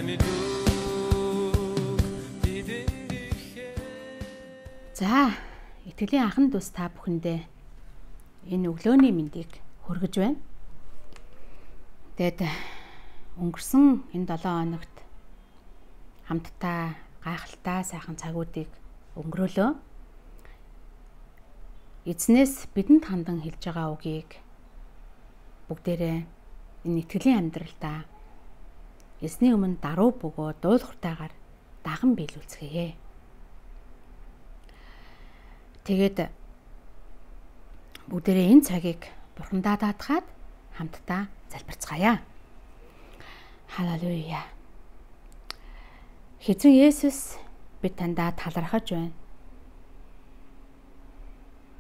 За, итгэлийн анхан дүүс та бүхэндээ энэ өглөөний мэндийг хүргэж байна. Тэгэд өнгөрсөн энэ 7 хоногт хамтдаа гайхалтай сайхан цагуудыг өнгөрөөлөө. Эзнээс бидэнд хандан хэлж байгаа үгийг бүгдээрээ энэ итгэлийн амьдралдаа эзний өмнө даруй бөгөө дуулууртайгаар даган биелүүлцгээе. Тэгээд бүгдээрээ энэ цагийг Бурхандаа даатгаад хамтдаа залбирцгаая. Халелуя. Хэзээ Есүс бид тандаа талархаж байна.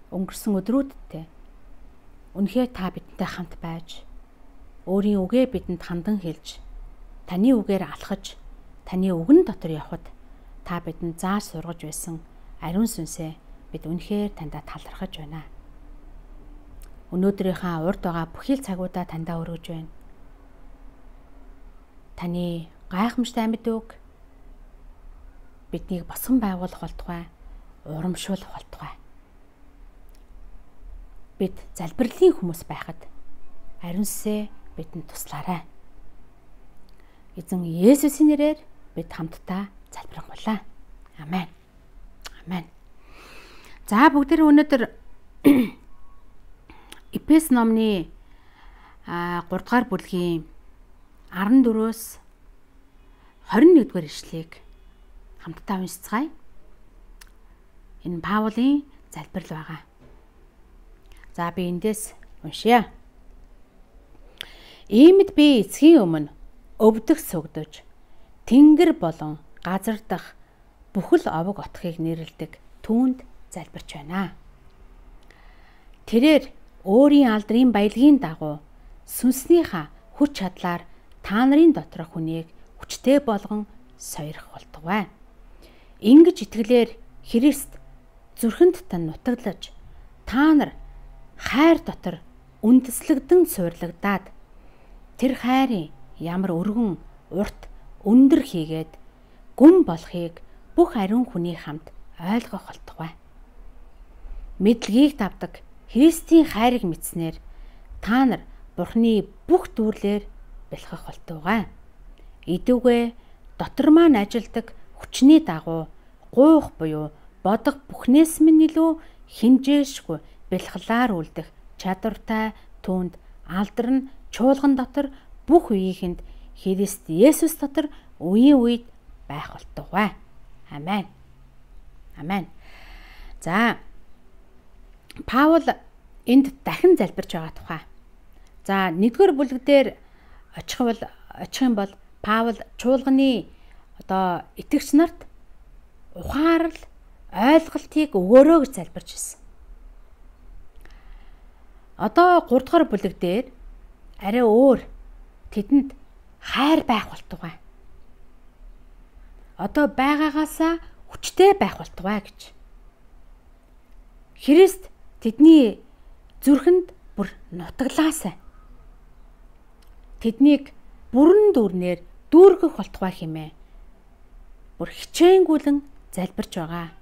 Өнгөрсөн өдрүүддээ үнэхээр та бидэнтэй хамт байж, өөрийн үгээ бидэнд хандан хэлж, таны үгээр алхаж, таны үгэн дотор явхад та бидэнд заа сургаж байсан ариун сүнсээ бид үнэхээр тандаа талархаж байна. Өнөөдрийнхээ урд байгаа бүхий л цагуудаа тандаа өргөж байна. Таны гайхамшигт амьд үг биднийг босгон байгуулах болтугай, урамшуулах болтугай. Бид залбирлын хүмүүс байхад ариун сүнсээ бидэнд туслаарай. Эзэн Есүсийн нэрээр бид хамтдаа залбирanгуйлаа. Амен. Амен. За бүгдээ өнөөдөр Эфес номны 3 дугаар бүлгийн 14-өөс 21-р ишлэгийг хамтдаа уншицгаая. Энэ Паулийн залбирал байгаа. За би эндээс уншия. Иймд би эцгийн өмнө өвдөх сүгдэж, тэнгэр болон газар дах бүхэл овог отхыг нэрлдэг түүнд залбирч байна. Тэрээр өөрийн алдрын баялагын дагуу сүнснийхаа хүч чадлаар та нарын доторх хүнийг хүчтэй болгон сойрох болтугай. Ингэж итгэлээр Христ зүрхэнд тань нутаглаж, та нар хайр дотор үндэслэгдэн суурлагдаад тэр хайрын ямар өргөн, урт, өндөр хийгээд гүн болохыг бүх ариун хүний хамт ойлгох болтугай. Мэдлэгийг давдаг Христийн хайрыг мэдснээр та нар Бурхны бүх дүрлээр бэлхэх болтугай. Идүүгээ дотор маань ажилдаг хүчний дагуу гуйх буюу бодох бүхнээс минь илүү хинжээшгүй бэлхлаар үлдэх чадвартай түүнд алдар нь чуулган дотор бүх үеийнхэнд Христ Есүс дотор үеийн үед байх болтугай. Амен. Амен. За Паул энд дахин залбирч байгаа тухай. За 1-р бүлэг дээр очих юм бол Паул чуулганы итгэгч нарт ухаарл, ойлголтыг өгөөрөө гэж залбирч байсан. 3-р бүлэг дээр арай өөр тэдэнд хайр байх болтугай. Байгаагаасаа хүчтэй байх болтугай гэж. Христ тэдний зүрхэнд бүр нутаглаасай. Тэднийг бүрэн дүүрнээр дүүргэх болтугай хэмээн бүр хичээнгүйлэн залбирч байгаа.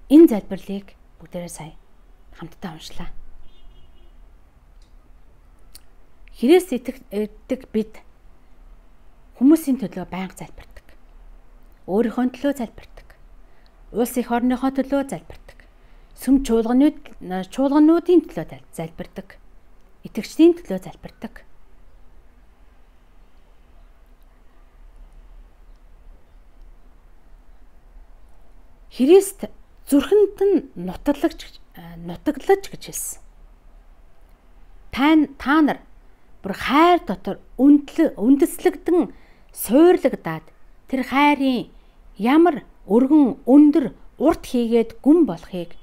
Энэ залбирлыг бүгдээрээ сая хамтдаа уншлаа. Христ итгэдэг бид хүмүүсийн төлөө байнга залбирдаг. Өөрийнхөө төлөө залбирдаг. Улс их орныхоо төлөө залбирдаг. Сүм чуулгануудын төлөө залбирдаг. Итгэгчдийн төлөө залбирдаг. Христ зүрхэнд нь нутаглаж гэж хэлсэн. Та нар бүр хайр дотор үндэслэгдэн суурлагдаад тэр хайрын ямар өргөн, өндөр, урт хийгээд гүн болохыг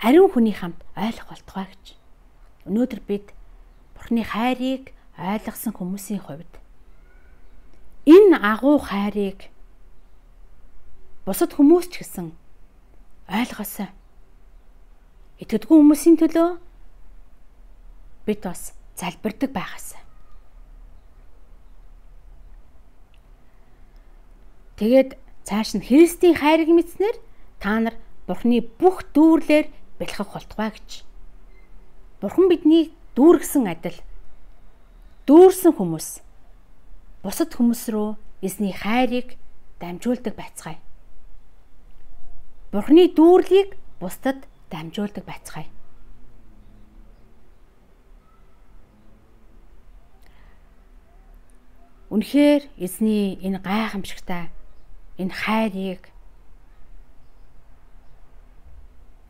ариун хүний хамт ойлгох болтугай гэж. Өнөөдөр бид Бурхны хайрыг ойлгосон хүмүүсийн хувьд энэ агуу хайрыг бусад хүмүүс ч гэсэн ойлгосоо. Итгэдэггүй хүмүүсийн төлөө бид бас залбирдаг байхаас. Тэгээд цааш нь Христийн хайрыг мэдснээр та нар Бурхны бүх дүүрлэр бэлхэх болтугай гэж. Бурхан биднийг дүүргэсэн адил дүүрсэн хүмүүс бусад хүмүүс рүү эзний хайрыг дамжуулдаг байцгаая. Бурхны дүүрлийг бусдад дамжуулдаг байцгаая. Үнэхээр эзний энэ гайхамшигтай энэ хайрыг,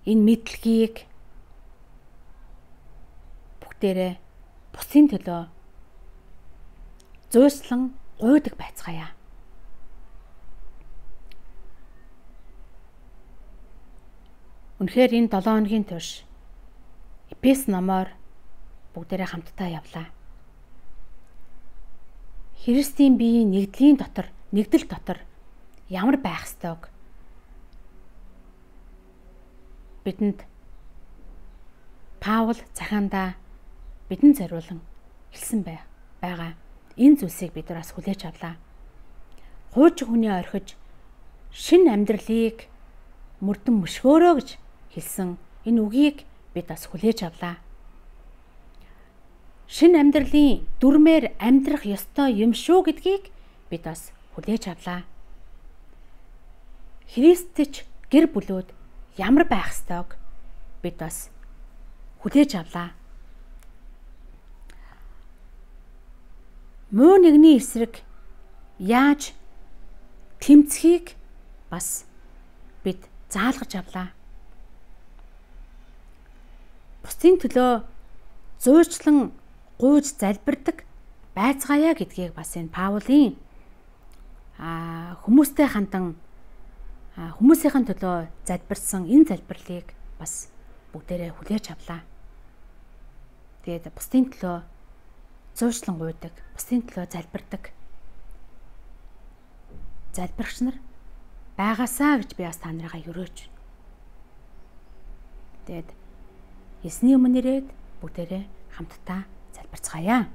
энэ мэдлэгийг бүгдээрээ бусдын төлөө зөөслөн гуйдаг байцгаая. Үнэхээр энэ 7 хоногийн турш Эфес номоор бүгдээрээ хамтдаа явлаа. Христийн биеийн нэгдэл дотор ямар байх ёстойг бидэнд Паул захаандаа бидэнд зориулан хэлсэн байгаа. Энэ зүйлсийг бид нар бас хүлээж авлаа. Хуучин хүний орхиж шинэ амьдралыг мөрдөн мөшгөөрөө гэж хэлсэн энэ үгийг бид бас хүлээж авлаа. Шинэ амьдралын дүрмээр амьдрах ёстой юм шүү гэдгийг бид бас хүлээж авлаа. Христч гэр бүлүүд ямар байх ёстойг бид бас хүлээж авлаа. Муу нэгний эсрэг яаж тэмцэхийг бас бид заалгаж авлаа. Бусдын төлөө зөөчлөн гуйж залбирдаг байцгаая гэдгийг бас энэ Паулийн хүмүүстэй хандан хүмүүсийн төлөө залбирсан энэ залбирлыг бас бүгдээрээ хүлээж авлаа. Тэгээд бусдын төлөө зөөчлөн гуйдаг, бусдын төлөө залбирдаг залбирагч нар байгаасаа гэж би бас та нарыгаа өрөөж. Тэгээд эзний өмнө ирээд бүгдээрээ хамтдаа залбирцгаая.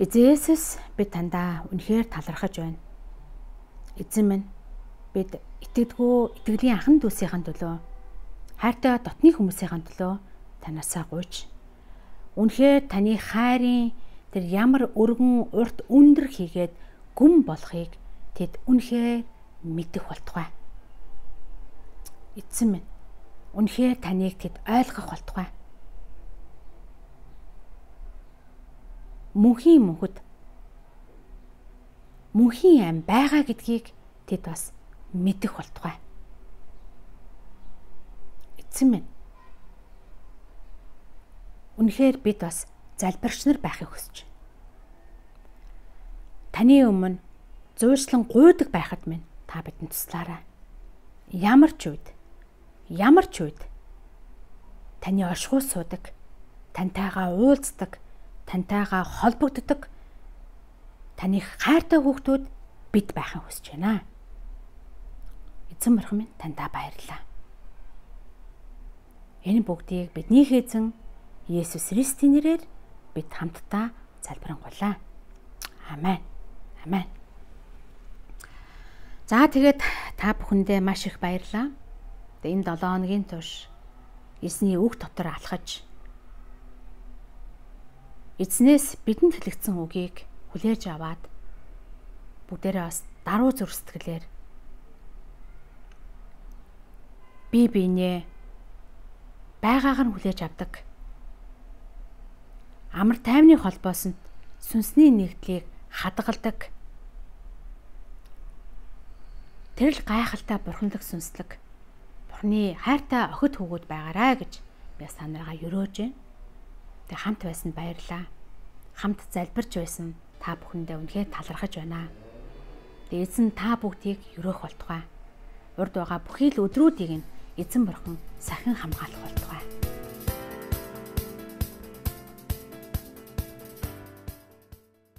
Эзэн Есүс бид тандаа үнэхээр талархаж байна. Эзэн минь бид итгэлийн анхан дүүсийн төлөө хайртай дотны хүмүүсийн төлөө танаасаа гуйж үнэхээр таны хайрын тэр ямар өргөн урт өндөр хийгээд гүн болохыг тэд үнэхээр мэдэх болтугай. Эзэн минь үнэхээр таныг тэд ойлгох болтугай. Мөнхийн ам байгаа гэдгийг тэд бас мэдэх болтугай. Эзэн минь үнэхээр бид бас залбирч нар байхыг хүсэж. Таны өмнө зөөчлөн гуйдаг байхад минь та бидэнд туслаарай. Ямар ч үед таны оршихуй суудаг, тантайгаа уулздаг, тантайгаа холбогддог таны хайртай хүүхдүүд бид байхын хүсэж байна. Эзэн бурхан минь тандаа баярлалаа. Энэ бүгдийг бидний эзэн Есүс Христийн нэрээр бид хамтдаа залбирanгуйлаа. Амен. Амен. За тэгээд та бүхэндээ маш их баярлалаа. Энэ 7 хоногийн турш эзний үг дотор алхаж эзнээс бидэнд хэлэгдсэн үгийг хүлээж аваад бүгдээрээ бас даруй зүрх сэтгэлээр бие биенээ байгаагаар нь хүлээж авдаг. Амар тайвны холбоосонд сүнсний нэгдлийг хадгалдаг. Тэрл гайхалтай бурханлаг сүнслэг Бурхны хайртай охид хүүгүүд байгаарай гэж би та нараа өрөөж. Тэг хамт байсан баярлаа. Хамт залбирч байсан та бүхэндээ үнэхээр талархаж байна. Тэг эзэн та бүгдийг өрөөх болтугай. Урд байгаа бүхий л өдрүүдийг нь эзэн бурхан сахин хамгаалах болтугай.